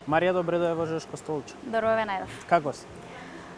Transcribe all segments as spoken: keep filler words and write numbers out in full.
Марија Добредоева Жешко Столче. Здорове најдов. Како си?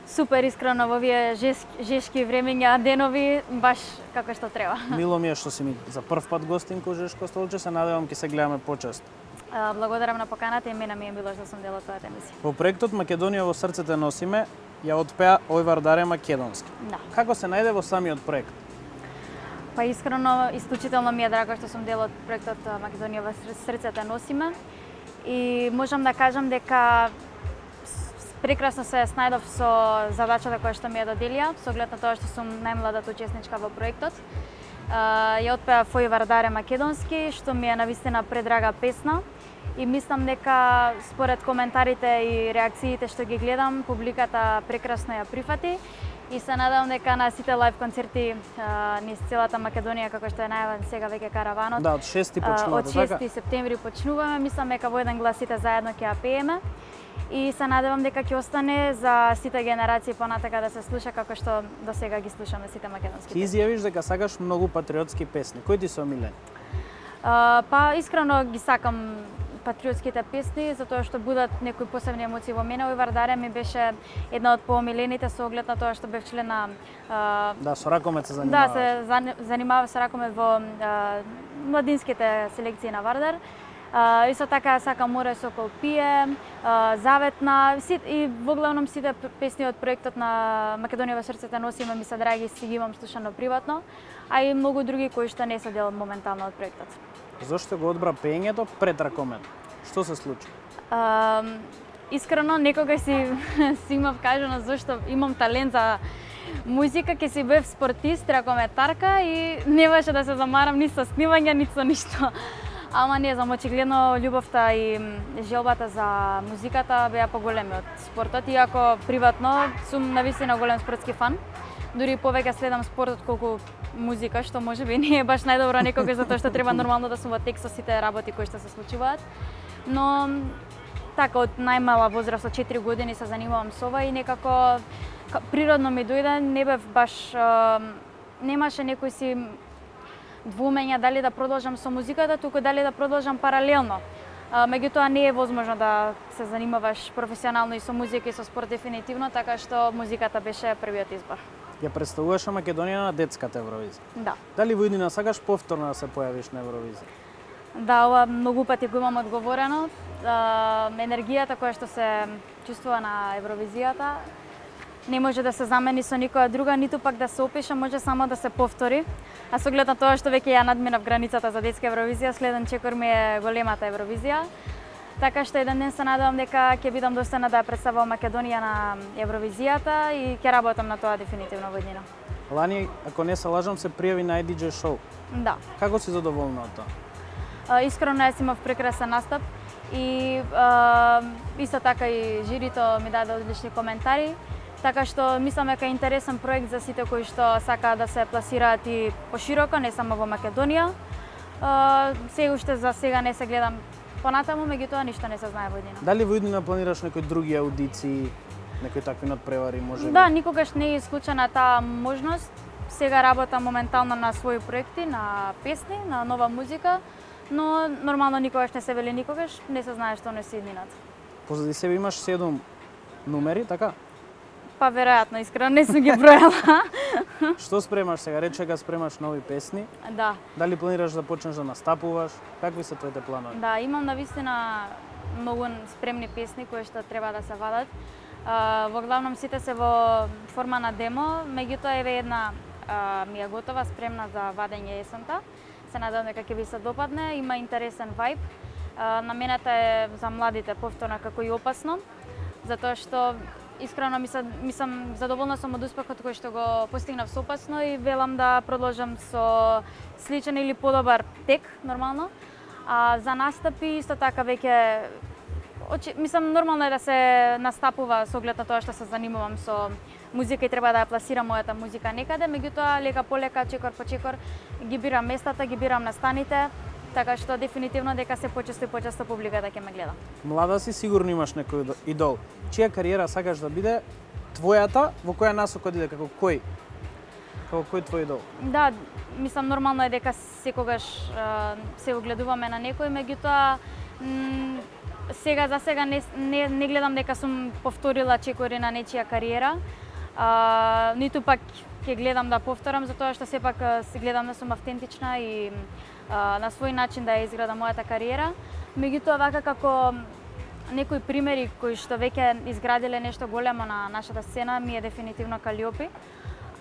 Супер, искрено во овие жешки, жешки времења, денови, баш како што треба. Мило ми е што си ми за прв пат гостинка у Жешко Столче, се надевам ќе се гледаме почесто. Благодарам на поканата и мене ми е било што сум дел од твојата емисија. Во проектот Македонија во срцете носиме ја отпеа Ојвар Даре Македонски. Да. Како се најде во самиот проект? Па искрено, исклучително ми е драго што сум дел од проектот Македонија во срцете носиме и можам да кажам дека прекрасно се снајдов со задачата која што ми ја доделија, со оглед на тоа што сум најмладата учесничка во проектот. Ја отпеа Ојвар Даре Македонски, што ми е навистина предрага песна и мислам дека според коментарите и реакциите што ги гледам, публиката прекрасно ја прифати и се надевам дека на сите лајв концерти низ целата Македонија, како што е најавен сега веќе караванот. Да, од шести почнувате, од шести септември почнуваме, мислам дека во еден глас сите заедно ќе ја пееме. И се надевам дека ќе остане за сите генерации понатака да се слуша како што до сега ги слушаме сите македонски песни. Ти изјавиш дека сакаш многу патриотски песни. Кои ти се омилени? Па искрено ги сакам патриотските песни, затоа што будат некои посебни емоции во мене. Ојвар Даре ми беше една од поомилените со оглед на тоа што бев член на... Да, со ракомет се занимаваш. Да, се занимава со ракомет во младинските селекции на Вардар. Uh, исто така сакам Море Сокол пие, uh, Заветна и во главном сите песни од проектот на Македонија во срцете носиме ми се драги, си ги имам слушано приватно, а и многу други кои што не се дел моментално од проектот. Зошто го одбра пеењето пред ракомет? Што се случи? Uh, искрено некогаш си си имав кажано зошто имам талент за музика, ќе си бев спортист, ракометарка и не беше да се замарам ни со снимање, ни со ништо. Ама не знам, очигледно љубовта и желбата за музиката беа поголеми од спортот, иако приватно сум навистина голем спортски фан. Дури повеќе следам спортот колку музика, што можеби не е баш најдобро некогаш затоа што треба нормално да сум во текст со сите работи кои што се случуваат. Но така од најмала возраст, од четири години се занимавам со ова и некако природно ми дојде, не бев баш немаше некој си двумења дали да продолжам со музиката, туку дали да продолжам паралелно. Меѓутоа не е возможно да се занимаваш професионално и со музика и со спорт дефинитивно, така што музиката беше првиот избор. Ја представуваш Македонија на детската Евровизија. Да. Дали во иднина сакаш повторно да се појавиш на Евровизија? Да, ова многу пати го имам одговорено. Енергијата која што се чувствува на Евровизијата не може да се замени со никоја друга, ниту пак да се опише, може само да се повтори. А со оглед на тоа што веќе ја надминав границата за детска Евровизија, следен чекор ми е големата Евровизија. Така што еден ден се надевам дека ќе бидам достојна да ја представувам Македонија на Евровизијата и ќе работам на тоа дефинитивно во иднина. Лани, ако не се лажам, се пријави на ди џеј шоу. Да. Како си задоволна од тоа? Искрено јас имав прекрасен настап и а, исто така и жирито ми даде одлични коментари. Така што мислам дека е интересен проект за сите кои што сакаат да се пласираат и пошироко, не само во Македонија. Сега уште за сега не се гледам понатаму, меѓутоа ништо не се знае во иднина. Дали во иднина планираш некои други аудиции, некои такви надпревари, може? Да, никогаш не е исклучена таа можност. Сега работам моментално на своји проекти, на песни, на нова музика, но нормално никогаш не се вели никогаш, не се знае што носи иднината. Позади себе имаш седум номери, така? Па веројатно, искрено не сум ги бројала. Што спремаш сега? Рече дека спремаш нови песни. Да. Дали планираш да почнеш да настапуваш? Какви се твоите планови? Да, имам навистина многу спремни песни кои што треба да се вадат. Uh, во главном сите се во форма на демо, меѓутоа еве една uh, ми е готова, спремна за вадење есента. Се надевам дека ќе ви се допадне, има интересен вајб. Uh, намената е за младите повторно како и опасно, затоа што искрено мислам задоволна сум од успехот кој што го постигнав со опасно и велам да продолжам со сличен или подобар тек нормално. А за настапи исто така веќе Очи, мислам, нормално е да се настапува со оглед на тоа што се занимавам со музика и треба да ја пласирам мојата музика некаде, меѓутоа лека по лека, чекор по чекор ги бирам местата, ги бирам настаните, така што дефинитивно дека се почесто и почесто публиката ќе ме гледа. Млада си, сигурно имаш некој идол. Чија кариера сакаш да биде твојата, во која насока иде, како кој? Како кој твој идол? Да, мислам нормално е дека секогаш се огледуваме на некој, меѓутоа М, сега за сега не, не, не гледам дека сум повторила чекори на нечија кариера. А, ниту пак ќе гледам да повторам, затоа што сепак се гледам да сум автентична и а, на свој начин да ја изградам мојата кариера. Меѓутоа, вака како некои примери кои што веќе изградиле нешто големо на нашата сцена ми е дефинитивно Калиопи.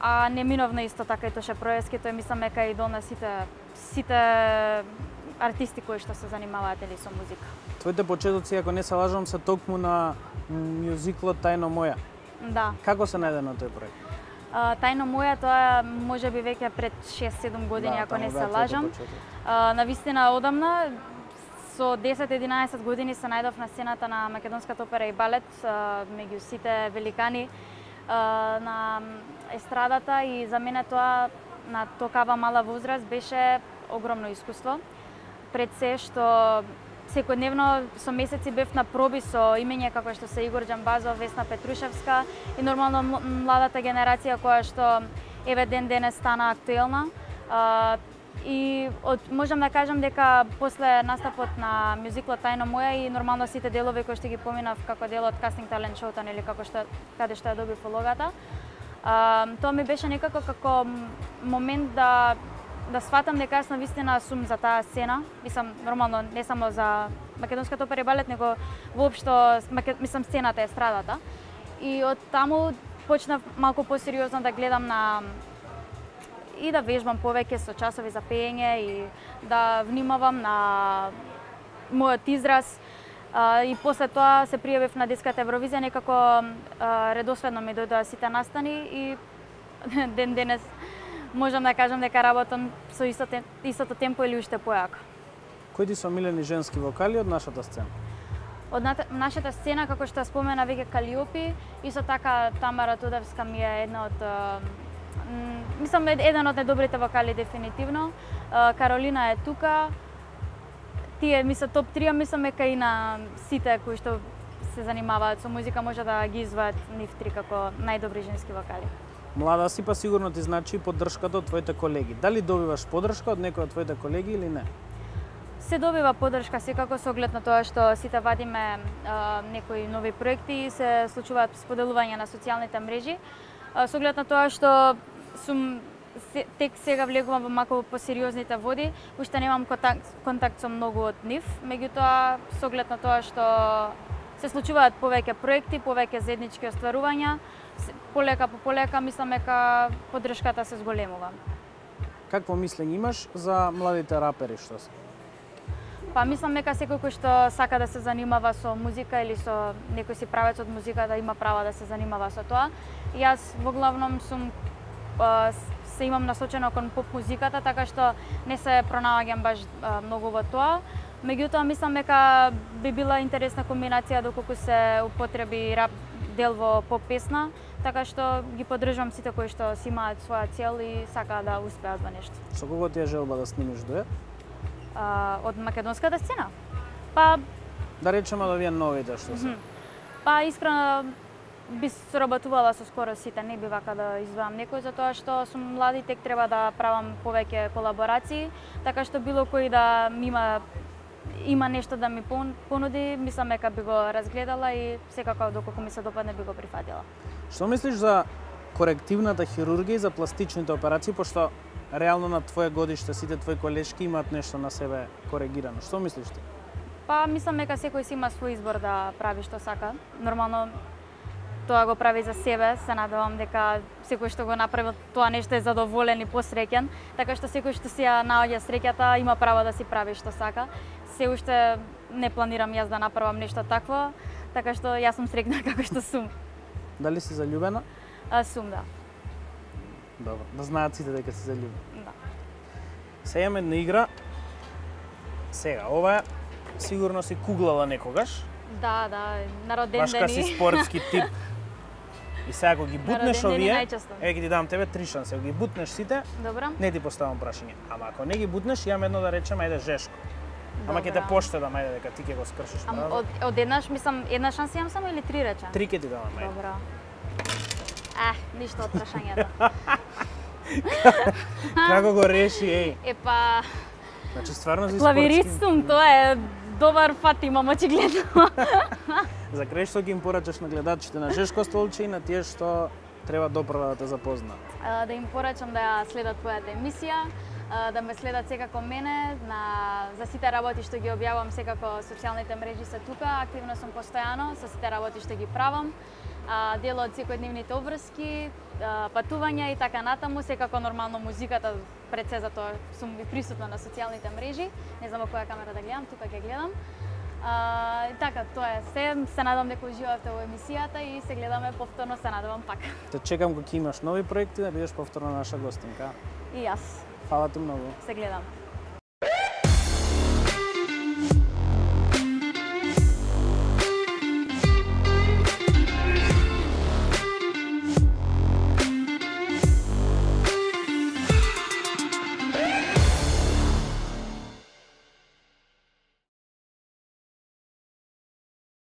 А неминовно исто така и Тоше Проевски, тој мислам дека идол на сите сите артисти кои што се занимаваат или со музика. Твоите почетоци, ако не се лажам, се токму на мюзиклот Тајно моја. Да. Како се најде на тој проект? А, Тајно моја, тоа може би веќе пред шест-седум години, Да, ако не таму се беа твоите лажам. почетоци. А, навистина одамна, со десет-единаесет години се најдов на сцената на Македонската опера и балет, а, меѓу сите великани а, на естрадата, и за мене тоа на токава мала возраст беше огромно искуство. Пред се што секојдневно со месеци бев на проби со имења како што се Игор Џамбазов, Весна Петрушевска и нормално младата генерација која што еве ден денес стана актуелна. А, и од, можам да кажам дека после настапот на мюзиклот Тајно моја и нормално сите делови кои што ги поминав како дел од кастинг талент шоуто, нели како што каде што ја добив улогата, а, тоа ми беше некако како момент да да сватам дека јас навистина сум за таа сцена. Мислам, нормално не само за Македонската опера и балет, него воопшто мислам сцената, естрадата. И од таму почнав малку посериозно да гледам на и да вежбам повеќе со часови за пеење и да внимавам на мојот израз. Uh, и после тоа се пријавив на детската Евровизија, некако uh, редоследно ми дојдоа сите настани и ден денес можам да кажам дека работам со истото, истото темпо или уште појако. Кои ти се омилени женски вокали од нашата сцена? Од нашата сцена, како што спомена веќе Калиопи, исто така Тамара Тудевска ми е една од мислам еден од најдобрите вокали дефинитивно. Каролина е тука. Тие мисля топ три, мислам дека и на сите кои што се занимаваат со музика може да ги изваат нив три како најдобри женски вокали. Млада си, па сигурно ти значи поддршката од твоите колеги. Дали добиваш поддршка од некој од твоите колеги или не? Се добива поддршка секако со оглед на тоа што сите вадиме а, некои нови проекти и се случуваат споделување на социјалните мрежи. А, со оглед на тоа што сум се, тек сега влегувам во малку посериозните води, уште немам контакт, контакт со многу од нив, меѓутоа со оглед на тоа што се случуваат повеќе проекти, повеќе заеднички остварувања, полека по полека мислам дека поддршката се зголемува. Какво мислење имаш за младите рапери што се? Па мислам дека секој кој што сака да се занимава со музика или со некој си правец од музика да има право да се занимава со тоа. Јас во главном сум се имам насочено кон поп музиката, така што не се пронаоѓам баш многу во тоа. Меѓутоа мислам дека би била интересна комбинација доколку се употреби рап дел во поп песна, така што ги поддржувам сите кои што си имаат своја цел и сакаат да успеат во нешто. Со кого ти е желба да снимиш дует? А, од македонската сцена? Па да речеме да вие новите што се. Па искрено би соработувала со скоро сите, не би вака да издвојам некој, затоа што сум млади, тек треба да правам повеќе колаборации, така што било кој да ми има има нешто да ми понуди, мислам дека би го разгледала и секако доколку ми се допадне би го прифатила. Што мислиш за корективната хирургија и за пластичните операции, пошто реално на твое годиште сите твои колешки имаат нешто на себе коригирано? Што мислиш ти? Па мислам дека секој си има свој избор да прави што сака. Нормално тоа го прави за себе, се надевам дека секој што го направи тоа нешто е задоволен и посреќен, така што секој што си ја наоѓа среќата има право да си прави што сака. Се уште не планирам јас да направам нешто такво, така што јас сум среќна како што сум. Дали си заљубена? А, сум, да. Добро, да знаат сите дека си заљубена. Да. Сега имаме една игра. Сега, ова сигурно си куглала некогаш. Да, да, на родендени. Башка си спортски тип. И сега ако ги бутнеш овие, еве ќе ти дам тебе три шанси. Ако ги бутнеш сите, добро, не ти поставам прашање. Ама ако не ги бутнеш, имам едно да речем, ајде Жешко. Ама ќе те поштедам, ајде дека ти ќе го скршиш. Ама од, од еднаш, мислам, една шанса имам само или три реча? Три ќе ти давам, ајде. Добро. Ех, ништо од прашањето. Како го реши, еј? Епа... Значи стварно си клавирист сум, тоа е добар фат имам очигледно. За крај што ги им порачаш на гледачите на Жешко Столче и на тие што треба допрва да те запознаат? Да им порачам да ја следат твојата емисија, да ме следат секако мене, на за сите работи што ги објавам, секако социјалните мрежи се тука, активно сум постојано со сите работи што ги правам. Дел од секојдневните обврски, патувања и така натаму, секако нормално музиката пред се, затоа сум и присутна на социјалните мрежи. Не знам во која камера да гледам, тука ќе гледам. А, и така, тоа е се. Се надам дека уживавте во емисијата и се гледаме повторно, се надевам пак. Те чекам кога ќе имаш нови проекти да бидеш повторно наша гостинка. И јас. Фала ти многу. Се гледам.